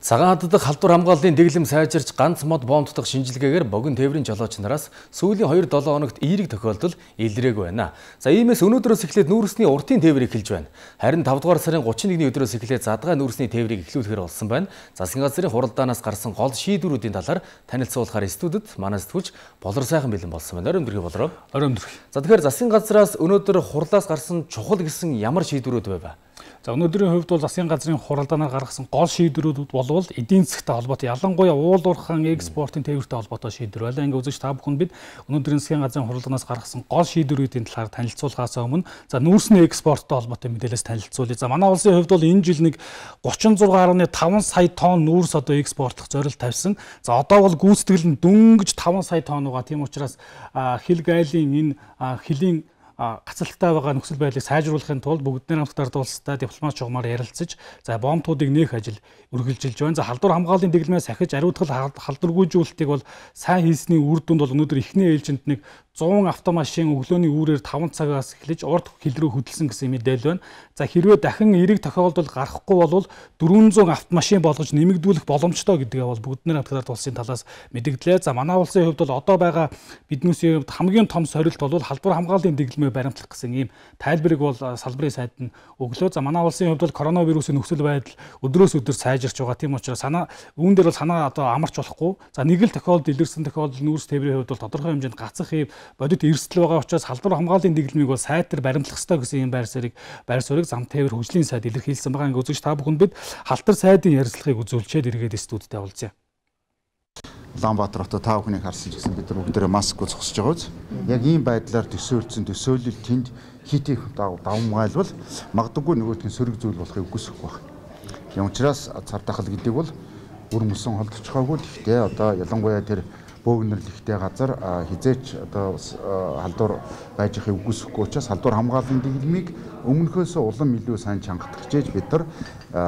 Цагаан хаддаг халдвар хамгааллын дэглэм сайжирч ганц мод боомдох шинжилгээгээр богино тээврийн жолооч нараас сүүлийн 2-7 хоногт эерэг тохиолдол илрээгүй байна. За иймээс өнөөдрөөс эхлээд нүүрсний уртын тээврийг эхэлж байна. Харин 5 дугаар сарын 31-ний өдрөөс эхлээд задгай нүүрсний тээврийг эхлүүлэхээр болсон байна. Засгийн газрын хуралдаанаас гарсан гол шийдвэрүүдийн талаар танилцуулахаар студид манай сэтгүүлч Болор сайхан бэлэн болсон байна. Оройн дөрөв болороо. Оройн дөрөв. За тэгэхээр засгийн газраас өнөөдөр хурлаас гарсан чухал гэсэн ямар шийдвэрүүд байв? За өнөөдрийн хувьд бол засгийн газрын хуралдаанаар гаргасан гол шийдвэрүүд болвол эдийн засгтай холбоотой ялангуяа уул уурхайн экспортын тээвэртэй холбоотой шийдвэр байлаа. Ингээ үзэж та бүхэнд бид өнөөдрийн засгийн газрын хуралдаанаас гаргасан гол шийдвэрүүдийн талаар танилцуулахаас өмнө за нүүрсний экспорттой холбоотой мэдээлэлс танилцуулъя. За манай улсын хувьд бол энэ жил нэг 36.5 сая тонн нүүрс одоо экспортлох зорилт тавьсан. За одоо бол гүйцэтгэл нь дөнгөж 5 сая тонн байгаа. Тийм учраас хил гайлын энэ хилийн гацалттай байгаа нөхцөл байдлыг сайжруулахын тулд бүгдний хамт ард улстай дипломат чугамаар ярилцаж за боомтуудыг нээх ажил үргэлжилж байна. За халдвар хамгааллын дэглэмээс ахиж ариутгал халдваргүйжүүлэлтийг бол сайн хийсний үр дүнд бол өнөөдөр эхний ээлжинд нэг 100 автомашин өглөөний үүрээр 5 цагаас эхлэж урд хил рүү хөдөлсөн гэсэн мэдээлэл байна. За хэрвээ дахин эерэг тохиолдол гарахгүй бол 400 автомашин болгож нэмэгдүүлэх боломжтой гэдгээ бол бүгдний хамт ард улсын талаас мэдэгдлээ. За манай улсын хувьд бол одоо байгаа биднээс хувьд хамгийн том сорилт бол халдвар хамгааллын дэглэмээ баримтлах гэсэн ийм тайлбарыг бол салбарын сайд нь өглөө. За манай улсын хувьд бол коронавирусын нөхцөл байдал өдрөөс өдөр сайжирч байгаа. Тийм учраас үүн дээр бол санаа одоо амарч болохгүй. За нэг л тохиолдол илэрсэн тохиолдол нүүрс тээврийн хувьд бол тодорхой хэмжээнд гацах ийм бодит эрсдэл байгаа учраас халдвар хамгааллын дэглэмийг бол сайтар баримтлах ёстой гэсэн ийм байр суурийг зам тээвэр хөгжлийн сайд илэрхийлсэн байгаа. Ингээ үзэж та бүхэнд бид халтар сайдын ярилцлагыг үзүүлчихэд эргээд студидтэй уулзъя. Улаанбаатар хотод та бүхнийг харсан ч гэсэн бид нар бүгдээрээ маскгүй зогсож байгаа үз. Яг ийм байдлаар төсөөлсөн төсөөлөл тэнд хит их давмгайлбал магадгүй нөгөөдхийн сөрөг зүйл болохыг үгүйсэхгүй байна. Тийм учраас цар тахал гэдэг бол бүр мөсөн холдчихоогүй. Гэхдээ одоо ялангуяа тэр бөөгнөрлөхтэй газар хизээч одоо халдвар байж ихийг үгүйсэхгүй учраас халдвар хамгааллын дэглэмийг өмнөхөөс улам илүү сайн чангах гэж бид нар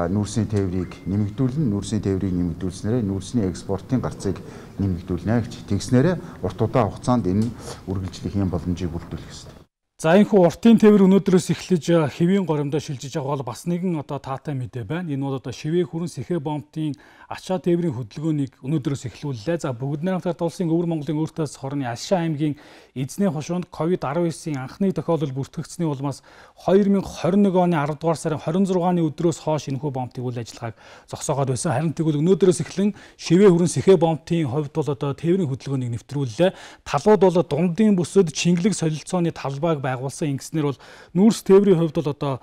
нүүрсний тээврийг нэмэгдүүлнэ. Нүүрсний тээврийг нэмэгдүүлснээр нүүрсний экспортын гарцыг нэмэгдүүлнэ гэж тэгснээр урт удаан хугацаанд энэ үргэлжлэх юм боломжийг бүрдүүлэх ёстой. За энэхүү уртын тээвэр өнөөдрөөс эхлэж хэвийн горимдоо шилжиж байгаа бол бас нэгэн одоо таатай мэдээ байна. Энэ бол одоо шивээ хүрэн сэхэ бомбтын ачаа тээврийн хөдөлгөөнийг өнөөдрөөс эхлүүллээ. За бүгдний хамт улсын өвөр Монголын өөртөөс хорны Алшаа аймгийн эзний хошуунд COVID-19-ийн анхны тохиолдол бүртгэгдсэний улмаас 2021 оны 10 дугаар сарын 26-ны өдрөөс хойш энэхүү бомбтын үйл ажиллагааг зогсоогоод байсан. Харин тэгвэл өнөөдрөөс эхлэн шивээ хүрэн сэхэ бомбтын хувьд бол одоо тээврийн хөдөлгөөнийг нэвтрүүллээ. Талууд бол дундын бүсэд шингэлэг солилцооны талбайг байгуулсан. Ингэснээр бол нүүрс тээврийн хувьд бол одоо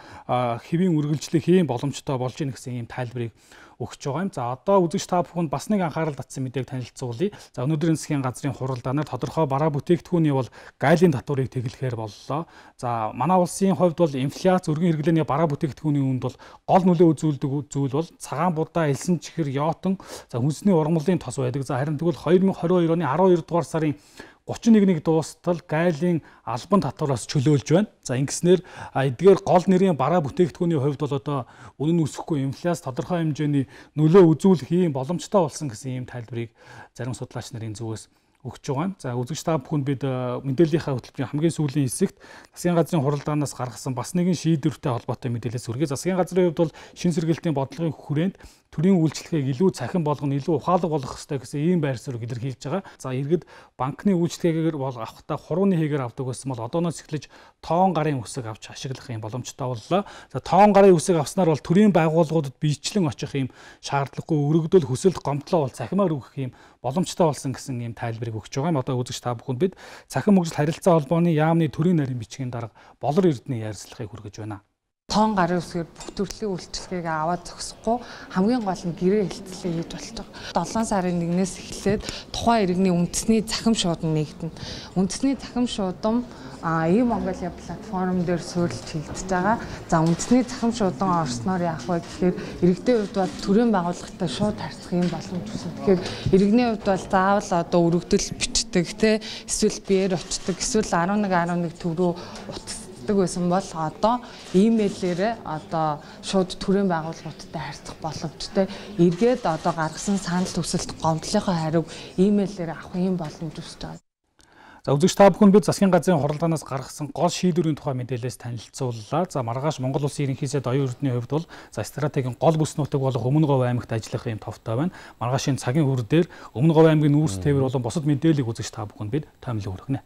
хэвийн үргэлжлэх ийм боломжтой болж ийн гэсэн ийм тайлбарыг өгч байгаа юм. За одоо үзэгч та бүхэнд бас нэг анхаарал татсан мэдээг танилцуулъя. За өнөөдрийн засгийн газрын хуралдаанаар тодорхой бараа бүтээгдэхүүний бол гайлын татварыг тэглэхээр боллоо. За манай улсын хувьд бол инфляц өргөн хэрэглээний бараа бүтээгдэхүүний үүнд бол гол нөлөө үзүүлдэг зүйл бол цагаан будаа, элсэн чихэр, йотон, за хүнсний ургамлын тос байдаг. За харин тэгвэл 2022 оны 12 дугаар сарын 31-ний дуустал гайлын албан татвараас чөлөөлж байна. За ингэснээр эдгээр гол нэрийн бараа бүтээгдэхүүний хувьд бол одоо үнэн өсөхгүй инфляц тодорхой хэмжээний нөлөө үзүүлэх ийм боломжтой болсон гэсэн ийм тайлбарыг зарим судлаач нарын зүгээс өгч байгаа. За үзэгч та бүхэнд бид мэдээллийнхаа хөтөлбөрийн хамгийн сүүлийн хэсэгт засгийн газрын хуралдаанаас гаргасан бас нэгэн шийдвэртэй холбоотой мэдээлэлс хүргэе. Засгийн газрын хувьд бол шин сэргэлтийн бодлогын хүрээнд төрийн үйлчлэгийг илүү цахин болгоно, илүү ухаалаг болгох ёстой гэсэн ийм байр суурийг илэрхийлж байгаа. За иргэд банкны үйлчлэгээр бол авахдаа хурууны хэгээр авдаг байсан бол одооноос эхлэж тоон гарын үсэг авч ашиглах юм боломжтой боллоо. За тоон гарын үсэг авснаар бол төрийн байгууллагуудад биечлэн очих юм шаардлагагүй өргөдөл хүсэлт гомдлоо бол цахимаар өгөх юм боломжтой болсон гэсэн ийм тайлбарыг өгч байгаа юм. Одоо үзэгч та бүхэнд бид цахим хөгжил харилцаа холбооны яамны төрийн нарийн бичгийн дарга Болор Эрдэнэ ярилцлагыг хүргэж байна. Тоон гарын үсгээр бүх төрлийн үйлчлэгийг аваад зогсохгүй хамгийн гол нь гэрээ хэлтэлээ хийж болж байгаа. 7 сарын 1-ээс эхлээд тухайн иргэний үндэсний захим шуудам нэгдэнэ. Үндэсний захим шуудам E-Mongolia платформ дээр суурилж хилдэж байгаа. За үндэсний захим шуудан орсноор яах вэ гэхээр иргэдийн хувьд бол төрийн байгууллагатай шууд харьцах юм боломж үүснэ. Тэгэхээр иргэний хувьд бол заавал одоо өргөдөл бичдэг те эсвэл биеэр очдог эсвэл 11 төв рүү утасдаг байсан бол одоо имэйлээрээ одоо шууд төрийн байгууллагуудтай харьцах боломжтой. Эргээд одоо гаргасан санал хүсэлт гомдлынхоо хариуг имэйлээр авах юм боломж үүсэж байгаа. За үзэгч та бүхэн бид засгийн газрын хуралдаанаас гаргасан гол шийдвэрийн тухай мэдээлэлээс танилцууллаа. За маргааш Монгол Улсын ерөнхий сайд оюун эрдэнийн хувьд бол за стратегийн гол бүс нутаг болох Өмнөговь аймагт ажиллах юм товтой байна. Маргаашийн цагийн хөр дээр Өмнөговь аймгийн нүүрс тээвэр болон бусад мэдээллийг үзэгч та бүхэнд бид томилон хүргэнэ.